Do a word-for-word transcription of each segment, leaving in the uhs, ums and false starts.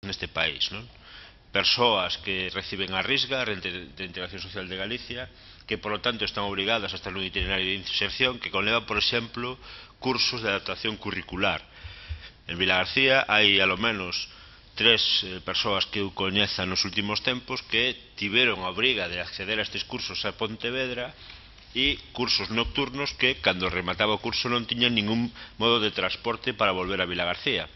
neste país, non? Persoas que reciben a risga a Rente de Integración Social de Galicia, que polo tanto están obrigadas a estar nun itinerario de inserción que conleva, por exemplo, cursos de adaptación curricular. En Vilagarcía hai alo menos tres eh, persoas que eu coñeza nos últimos tempos que tiveron a obriga de acceder a estes cursos a Pontevedra e cursos nocturnos que, cando remataba o curso, non tiñan ningún modo de transporte para volver a Vilagarcía,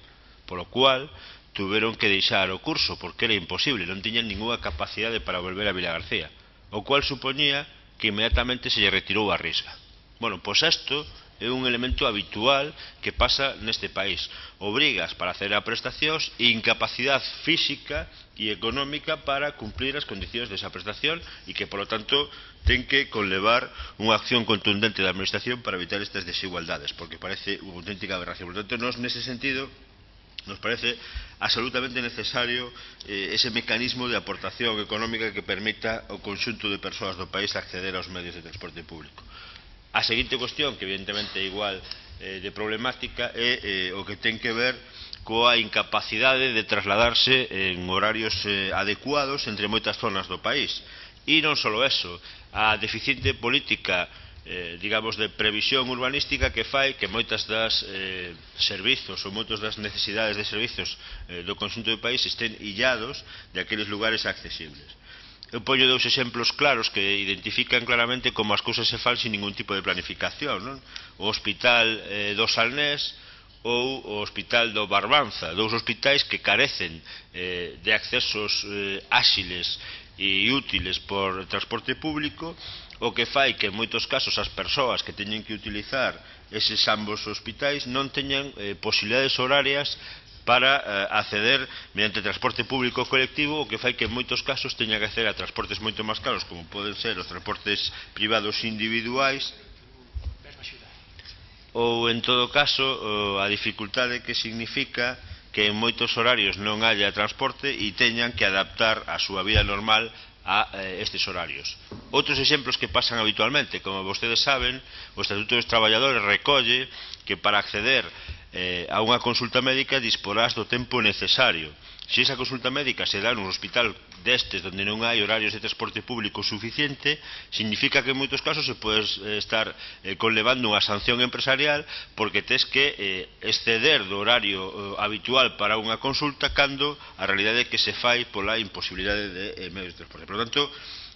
polo cual tuveron que deixar o curso porque era imposible, non tiñan ninguna capacidade para volver a Vilagarcía, o cual supoñía que inmediatamente se lle retirou a risga. Bueno, pois isto é un elemento habitual que pasa neste país. Obrigas para hacer a prestacións e incapacidade física e económica para cumplir as condicións desa prestación e que, polo tanto, ten que conlevar unha acción contundente da administración para evitar estas desigualdades, porque parece unha auténtica aberración. Por tanto, nos, nese sentido, nos parece absolutamente necesario eh, ese mecanismo de aportación económica que permita ao conxunto de persoas do país acceder aos medios de transporte público. A seguinte cuestión, que evidentemente é igual eh, de problemática, é eh, o que ten que ver coa incapacidade de trasladarse en horarios eh, adecuados entre moitas zonas do país. E non só eso, a deficiente política Eh, digamos, de previsión urbanística que fai que moitas das eh, servizos ou moitos das necesidades de servizos eh, do conxunto do país estén illados de aqueles lugares accesibles. Eu poño dous exemplos claros que identifican claramente como as cousas se fan sin ningún tipo de planificación, non? O Hospital eh, do Salnés ou o Hospital do Barbanza, dous hospitais que carecen eh, de accesos eh, áxiles e útiles por transporte público, o que fai que en moitos casos as persoas que teñen que utilizar eses ambos hospitais non teñan eh, posibilidades horarias para eh, acceder mediante transporte público colectivo, o que fai que en moitos casos teñan que acceder a transportes moito máis caros, como poden ser os transportes privados individuais, ou en todo caso a dificultade que significa que en moitos horarios non haya transporte e teñan que adaptar a súa vida normal a eh, estes horarios. Outros exemplos que pasan habitualmente, como vostedes saben, o Estatuto dos Traballadores recolle que para acceder eh, a unha consulta médica disporás do tempo necesario. Se esa consulta médica se dá nun hospital destes onde non hai horarios de transporte público suficiente, significa que en moitos casos se pode estar eh, conlevando unha sanción empresarial porque tes que eh, exceder do horario eh, habitual para unha consulta cando a realidade é que se fai pola imposibilidade de eh, medios de transporte. Por lo tanto,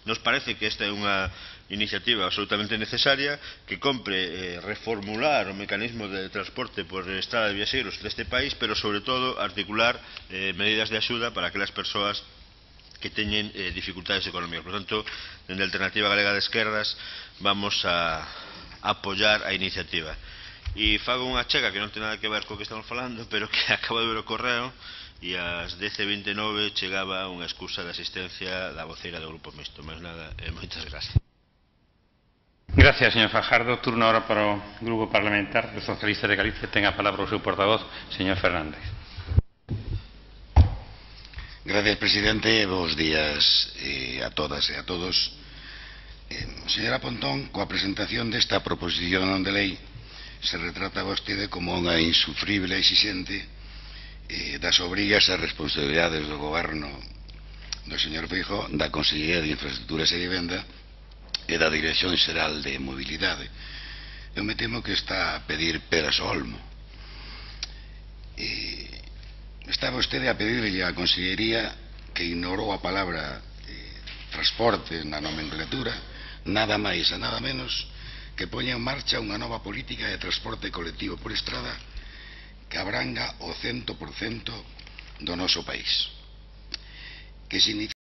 nos parece que esta é unha iniciativa absolutamente necesaria, que compre eh, reformular o mecanismo de transporte por estrada de viaxeiros deste país, pero sobre todo articular eh, medidas de axuda para aquelas persoas que teñen eh, dificultades económicas. Por tanto, dende a Alternativa Galega de Esquerdas vamos a apoiar a iniciativa. E fago unha chega que non ten nada que ver co que estamos falando, pero que acabo de ver o correo e ás dez e vinte e nove chegaba unha excusa de asistencia da voceira do Grupo Mixto. Máis nada, e moitas gracias. Gracias, señor Fajardo. Turno ahora para o Grupo Parlamentar dos Socialistas de Galicia. Ten a palabra o seu portavoz, señor Fernández. Gracias, presidente. Bos días eh, a todas e a todos. Eh, señora Pontón, coa presentación desta proposición de lei se retrata vostede como unha insufrible exixente eh, das obrigas e responsabilidades do goberno do señor Feijóo, da Consellería de Infraestructuras e Vivenda e da Dirección Xeral de Mobilidade. Eu me temo que está a pedir peras ao olmo. E está vostede a pedirle á Consellería que ignorou a palabra eh, transporte na nomenclatura, nada máis e nada menos que poña en marcha unha nova política de transporte colectivo por estrada que abranga o cento por cento do noso país. Que significa